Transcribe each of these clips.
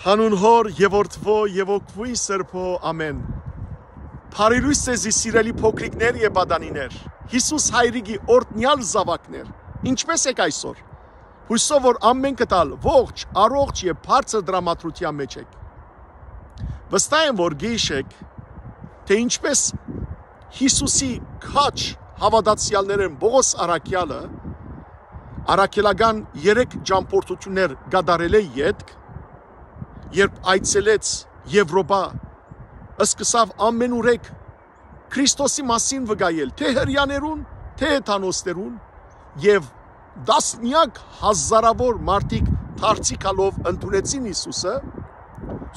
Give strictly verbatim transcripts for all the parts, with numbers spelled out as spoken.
Հանուն Հօր եւ Որդւոյ եւ Հոգւոյն Սրբոյ, ամէն։ Բարի լոյս ձեզի, սիրելի փոքրիկներ եւ պատանիներ, Յիսուս Հայրիկի օրհնեալ զաւակներ։ Ինչպէս եք այսօր։ Յուսով որ ամէնքդ ալ ողջ, առողջ եւ բարձր տրամադրութեան մէջ եք։ Վստահ եմ, որ գիշեք, թե ինչպէս Յիսուսի քաջ հաւատացեալներէն Պողոս Առաքեալը առաքելական երեք ճամբորդութիւններ կատարելէ ետք, երբ այցելեց Եւրոպա, սկսաւ ամենուրեք Քրիստոսի մասին վկայել, թե հրեաներուն, թե հեթանոսներուն, եւ տասնեակ հազարաւոր մարդիկ դարձի գալով ընդունեցին Յիսուսը,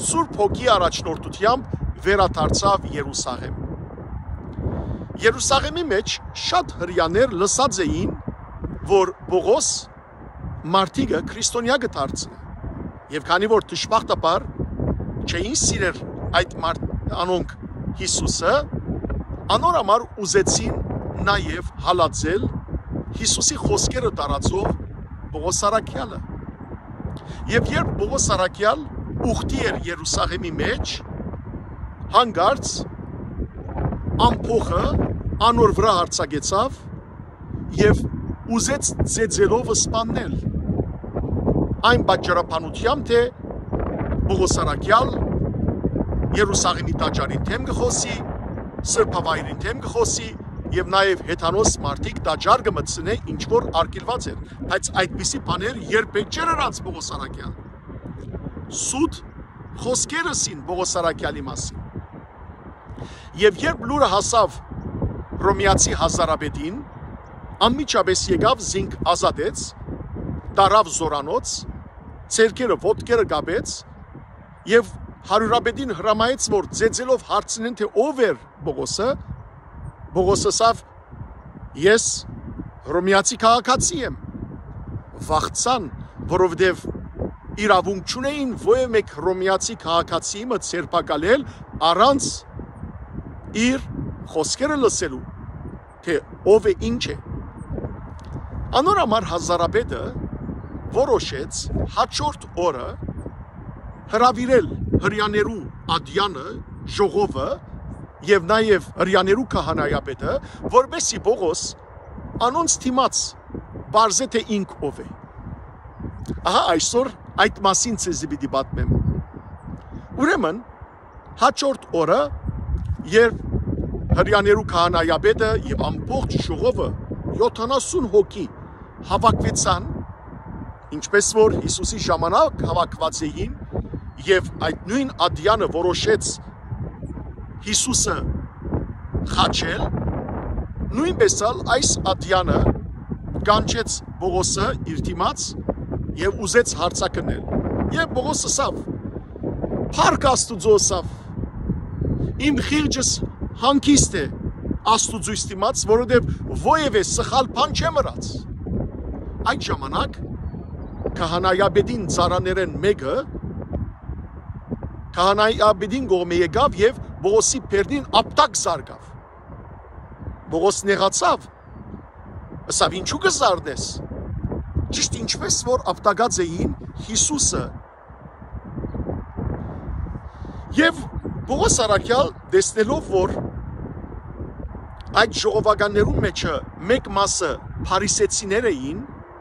Սուրբ Հոգի առաջնորդութեամբ վերադարձաւ Երուսաղէմ։ Երուսաղէմի մէջ շատ հրեաներ լսած էին, որ Պողոս մարդիկը քրիստոնեայ կը դարձնէ։ Եւ քանի որ դժբախտաբար չէին սիրեր այդ մարդ-, անոնք Յիսուսը, անոր համար ուզեցին նաեւ հալածել Յիսուսի խօսքերը տարածող Պողոս Առաքեալը։ Եւ երբ Պողոս Առաքեալ ուխտի էր Երուսաղէմի մէջ, հանկարծ ամբոխը անոր վրայ յարձակեցաւ եւ ուզեց ծեծելով սպաննել։ Այն պատճառաբանությամբ, թե Պողոս Առաքեալ Երուսաղէմի տաճարին դէմ կը խօսի, սրբավայրին դէմ կը խօսի եւ նաեւ հեթանոս մարդիկ տաճար կը մտցնէ, ինչ որ արգիլուած էր, բայց այդպիսի բաներ երբեք չէր ըրած Պողոս Առաքեալ։ Սուտ խօսքեր ըսին Պողոս Առաքեալի մասին։ Եւ երբ լուրը հասաւ Հռոմեացի հազարապետին, անմիջապէս եկաւ, զինք ազատեց, տարաւ զօրանոց, ձեռքերը ոտքերը կապեց եւ հարիւրապետին հրամայեց, որ ծեծելով հարցնեն, թե ով էր Պողոսը։ Պողոս ըսաւ. «Ես հռոմեացի քաղաքացի եմ»։ Վախցան, որովհետեւ իրաւունք չունէին որեւէ մէկ հռոմեացի քաղաքացի մը ձերբակալել առանց իր խօսքերը լսելու, թե ով է, ինչ է։ Անոր համար հազարապետը որոշեց հաջորդ օրը հրաւիրել հրեաներու ատեանը, ժողովը եւ նաեւ հրեաներու քահանայապետը, որպեսզի Պողոս անոնց դիմաց պարզէ, թե ինք ով է։ Ահա այսօր այդ մասին ձեզի պիտի պատմեմ։ Ուրեմն, հաջորդ օրը, երբ հրեաներու քահանայապետը եւ ամբողջ ժողովը, յոթանասուն հոգի, հաւաքուեցան, ինչպէս որ Յիսուսի ժամանակ հաւաքուած էին, եւ այդ նոյն ատեանը որոշեց Յիսուսը խաչել, նոյնպէս ալ այս ատեանը կանչեց Պողոսը իր դիմաց եւ ուզեց հարցակնել։ Եւ Պողոս ըսաւ. «Փառք Աստուծոյ», ըսաւ, «իմ խիղճս հանգիստ է Աստուծոյս դիմաց, որովհետեւ որեւէ սխալ բան չեմ ըրած»։ Այդ ժամանակ քահանայապետին ծառաներէն մէկը քահանայապետին կողմէ եկաւ եւ Պողոսի բերնին ապտակ զարկաւ։ Պողոս նեղացաւ, ըսաւ. «Ինչու կը զարնես»։ Ճիշդ ինչպէս որ ապտակած էին Յիսուսը։ Եւ Պողոս առաքեալ, տեսնելով որ այդ ժողովականներուն մեջը մէկ մասը փարիսեցիներ էին,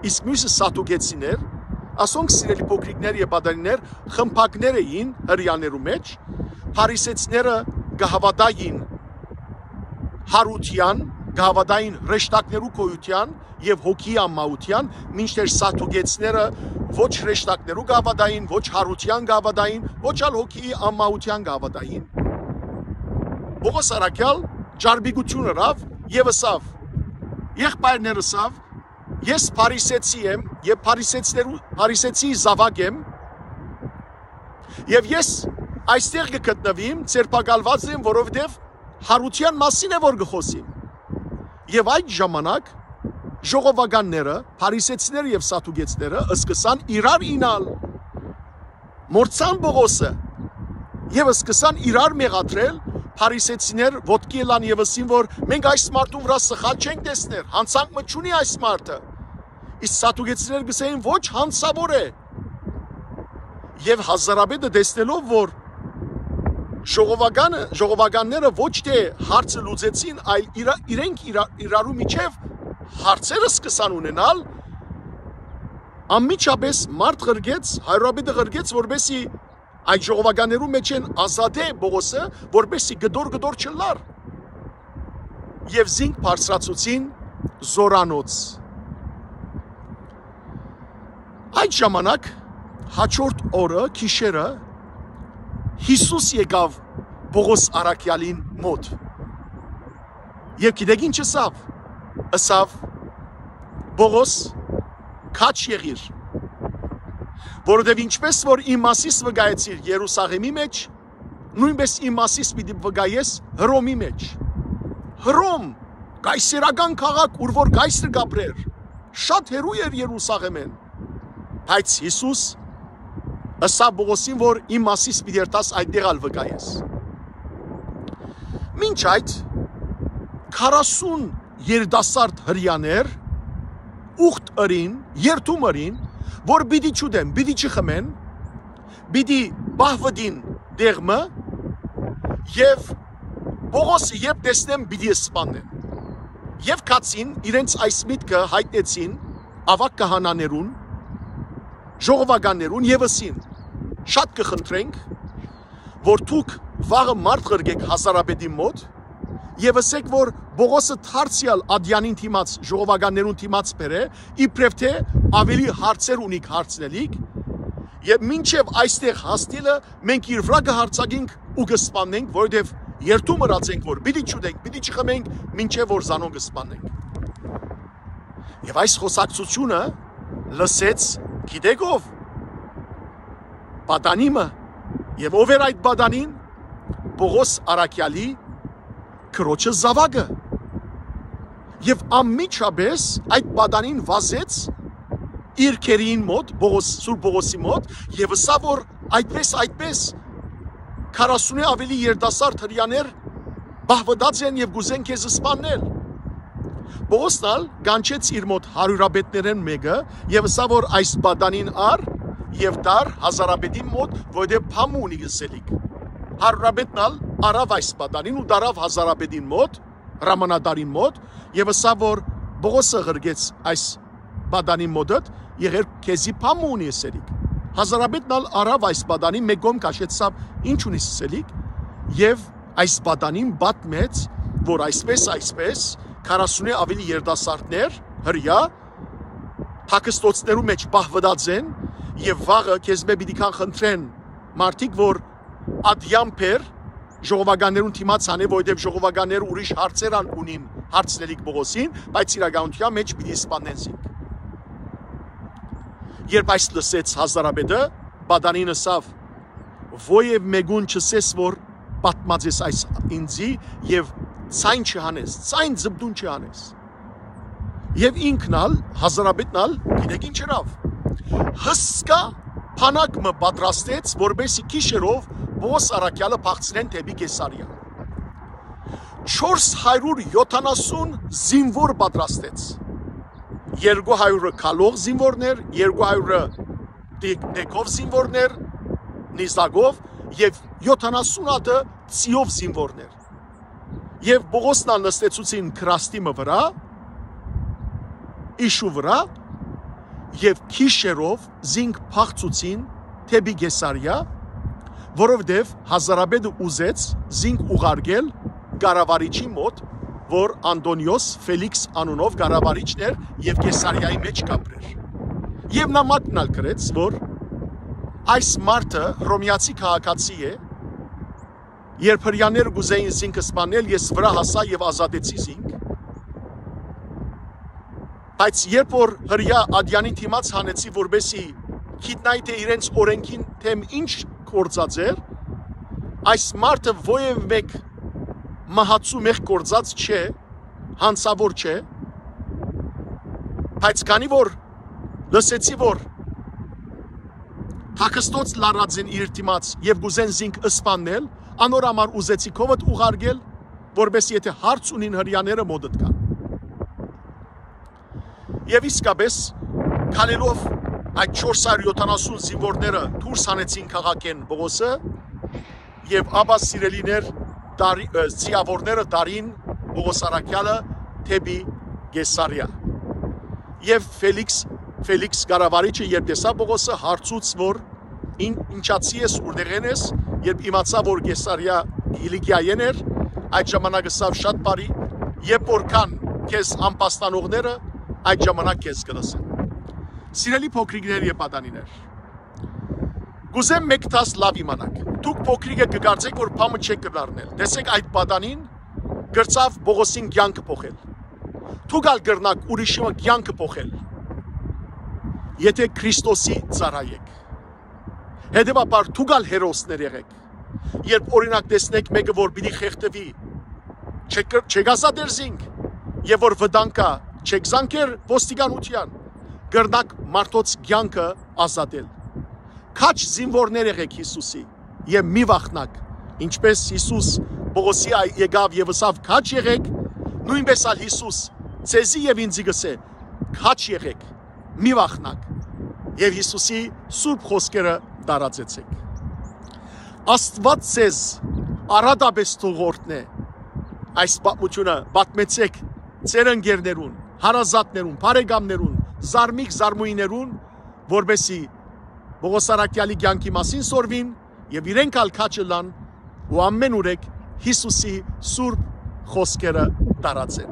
իսկ միւսը սատուկեցիներ, ասոնք, սիրելի փոքրիկներ եւ պատանիներ, խմբակներ էին հրեաներու մէջ, փարիսեցիները կը հաւատային յարութեան, կը հաւատային հրեշտակներու գոյութեան եւ հոգիի անմահութեան, մինչդեռ սատուկեցիները ոչ հրեշտակներու կը հաւատային, ոչ յարութեան կը հաւատային, ոչ ալ հոգիի անմահութեան կը հաւատային։ Պողոս առաքեալ ճարպիկութիւն ըրաւ եւ ըսաւ. «Եղբայրներ, ըսաւ, ես փարիսեցի եմ եւ փարիսեցիներու, փարիսեցի զաւակ եմ, եւ ես այստեղ կը գտնուիմ, ձերբակալուած եմ, որովհետեւ յարութեան մասին է որ կը խօսիմ»։ Եւ այդ ժամանակ ժողովականները, փարիսեցիները եւ սատուկեցիները սկսան իրար իյնալ, մոռցան Պողոսը եւ սկսան իրար մեղադրել, փարիսեցիներ ոտքի ելան եւ ըսին որ մենք այս մարդուն վրայ սխալ չենք տեսներ, յանցանք մը չունի այս մարդը։ Իսկ սատուկեցիները կ'ըսէին. «Ոչ, յանցաւոր է»։ Եւ հազարապետը տեսնելով, որ ժողովականը, ժողովականները ոչ թե հարցը լուծեցին, այլ իրա-, իրենք իրա-, իրարու միջեւ հարցերը սկսան ունենալ, անմիջապէս մարդ ղրկեց, հարիւրապետը ղրկեց, որպեսզի այդ ժողովականներու մէջէն ազատէ Պողոսը, որպեսզի կտոր-կտոր չըլլար։ Եւ զինք բարձրացուցին զորանոց։ Այդ ժամանակ, հաջորդ օրը, գիշերը, Յիսուս եկաւ Պողոս առաքեալին մօտ։ Եւ գիտեք ինչ ըսաւ։ Ըսաւ. «Պողոս, քաջ եղիր, որովհետեւ ինչպէս որ իմ մասիս վկայեցիր Երուսաղեմի մէջ, նոյնպէս իմ մասիս պիտի վկայես Հռոմի մէջ»։ Հռոմ, կայսերական քաղաք, ուր որ կայսրը կ'ապրէր, շատ հեռու էր Երուսաղեմէն։ Բայց Յիսուս ըսաւ Պողոսին, որ իմ մասիս պիտի երթաս, այդտեղ ալ վկայես։ Մինչ այդ, քառասուն երիտասարդ հրեաներ ուխտ ըրին, երդում ըրին, որ պիտի չուտեն, պիտի չխմեն, պիտի պահ վտին տեղ մը, եւ Պողոսը երբ տեսնեն, պիտի սպաննեն։ Եւ գացին, իրենց այս միտքը յայտնեցին աւագ քահանաներուն, ժողովականներուն եւ ըսին. «Շատ կը խնդրենք, որ դուք վաղը մարդ ղրկեք հազարապետին մօտ եւ ըսեք, որ Պողոսը դարձեալ ատեանին դիմաց, ժողովականներուն դիմաց բերէ, իբրեւ թէ աւելի հարցեր ունիք, հարցնելիք, եւ մինչեւ այստեղ հասնելը մենք իր վրայ կը յարձակենք ու կը սպաննենք, որովհետեւ երդում ըրած ենք, որ պիտի չուտենք, պիտի չխմենք, մինչեւ որ զանոնք կը սպաննենք»։ Եւ այս խօսակցութիւնը լսեց, գիտեք ով, պատանի մը։ Եւ ով էր այդ պատանին? Պողոս առաքեալի քրոջը զաւակը։ Եւ անմիջապէս այդ պատանին վազեց իր քերիին մօտ, Պողոս, Սուրբ Պողոսի մօտ, եւ ըսաւ, որ այդպես, այդպես, քառասունէ աւելի երիտասարդ հրեաներ պահ վտած են եւ կ'ուզեն քեզ սպաննել։ Պողոսն ալ կանչեց իր մօտ հարիւրապետներէն մէկը եւ ըսաւ, որ այս պատանին առ եւ տար հազարապետին մօտ, որովհետեւ բան մը ունի ըսելիք։ Հարիւրապետն ալ առաւ այս պատանին ու տարաւ հազարապետին մօտ, հրամանատարին մօտ, եւ ըսաւ, որ Պողոսը ղրկեց այս պատանին մօտդ, եղեր քեզի բան մը ունի ըսելիք։ Հազարապետն ալ առաւ այս պատանին, մէկ կողմ քաշեցաւ, ինչ ունի ըսելիք, եւ այս պատանին պատմեց, որ այսպես, այսպես, քառասունէ աւելի երիտասարդներ, հրեա, թաքստոցներու մէջ պահ վտած են, եւ վաղը քեզմէ պիտի գան խնդրեն մարդիկ, որ ատեան բեր ժողովականներուն դիմաց անե, որովհետեւ ժողովականները ուրիշ հարցեր ան ունին, հարցնելիք Պողոսին, բայց իրականութեան մէջ պիտի սպաննեն զինք։ Երբ այս լսեց հազարապետը, պատանին ըսաւ. «Ոեւ մէկուն չըսես, որ պատմած ես այս ինձի, եւ ձայն չհանես, ձայն զպտուն չհանես»։ Եւ ինքն ալ, հազարապետն ալ, գիտեք ինչ ըրաւ. հսկայ բանակ մը պատրաստեց, որպեսզի գիշերով Պողոս առաքեալը փախցնեն դէպի Կեսարիա։ Չորս հարիւր յոթանասուն զինուոր պատրաստեց։ Երկու հարիւրը գալով զինուորներ, երկու հարիւրը տի-, տեքով զինուորներ, նիզակով, եւ յոթանասուն հատը ծիով զինուորներ։ Եւ Պողոսն ալ նստեցուցին քրաստի մը վրայ, իշու վրայ, եւ գիշերով զինք փախցուցին դէպի Կեսարիա, որովհետեւ հազարապետը ուզեց զինք ուղարկել կառավարիչի մօտ, որ Անտոնիոս Ֆելիքս անունով կառավարիչն էր եւ Կեսարիայի մէջ կ'ապրէր։ Եւ նամակն ալ գրեց, որ այս մարդը հռոմեացի քաղաքացի է, երբ հրեաները կ'ուզեին զինք սպանել, ես վրայ հասայ եւ ազատեցի զինք։ Բայց երբ որ հրեայ ատեանին դիմաց հանեցի, որպեսզի գիտնայ, թէ իրենց օրենքին դէմ ինչ գործած էր, այս մարդը ոեւ մէկ մահացու մեղք գործած չէ, յանցաւոր չէ, բայց քանի որ լսեցի, որ թաքստոց լարած են իր դիմաց եւ կ'ուզեն զինք սպաննել, անոր համար ուզեցի քովդ ուղարկել, որպեսզի եթե հարց ունին, հրեաները մօտդ կան։ Եւ իսկապես, քալելով այդ չորս հարիւր յոթանասուն զինուորները դուրս հանեցին քաղաքէն Պողոսը, եւ ապա, սիրելիներ, տարի-, ը, ձիաւորները տարին Պողոս Առաքեալը դէպի Կեսարիա։ Եւ Ֆելիքս, Ֆելիքս կառավարիչը, երբ տեսաւ Պողոսը, հարցուց, որ «Ին-, ինչացի ես, ուրտեղէն ես»։ Երբ իմացաւ, որ Կեսարիա Կիլիկիայէն էր, այդ ժամանակ ըսաւ. «Շատ բարի, երբ որ կան քեզ ամբաստանողները, այդ ժամանակ քեզ կը լսեն»։ Սիրելի փոքրիկներ եւ պատանիներ, կ'ուզեմ մէկ դաս լաւ իմանաք։ Դուք փոքրիկը կը կարծէք, որ բան մը չէք կրնար ընել։ Տեսէք, այդ պատանին կրցաւ Պողոսին կեանքը փոխել։ Դուք ալ կրնաք ուրիշի մը կեանքը փոխել, եթէ Քրիստոսի ծառայ էք։ Հետեւաբար դուք ալ հերոսներ եղէք։ Երբ, օրինակ, տեսնէք մէկը, որ պիտի խեղդուի, չեք կր-, չեք ազատեր զինք, եւ որ վտանգ կայ, չեք զանգեր ոստիկանութեան, կրնաք մարդոց կեանքը ազատել։ Քաջ զինուորներ եղէք Յիսուսի եւ մի վախնաք, ինչպէս Յիսուս Պողոսի այ եկաւ եւ ըսաւ. «Քաջ եղէք», նոյնպէս ալ Յիսուս ձեզի եւ ինձի կ'ըսէ. «Քաջ եղէք, մի վախնաք եւ Յիսուսի սուրբ խօսքերը տարածեցէք»։ Աստուած ձեզ առատապէս թող օրհնէ։ Այս պատմութիւնը պատմեցէք ձեր ընկերներուն, հարազատներուն, բարեկամներուն, զարմիկ զարմուհիներուն, որպէսզի Պողոս Առաքեալի կեանքի մասին սորվին եւ իրենք ալ քաջ ըլլան ու ամէն ուրեք Յիսուսի սուրբ խօսքերը տարածեն։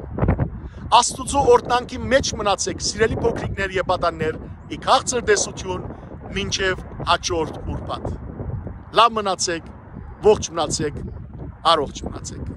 Աստուծոյ օրհնանքի մէջ մնացէք, սիրելի փոքրիկներ եւ պատաններ, ի քաղցր տեսութիւն մինչեւ հաջորդ ուրբաթ։ Լաւ մնացէք, ողջ մնացէք, առողջ մնացէք։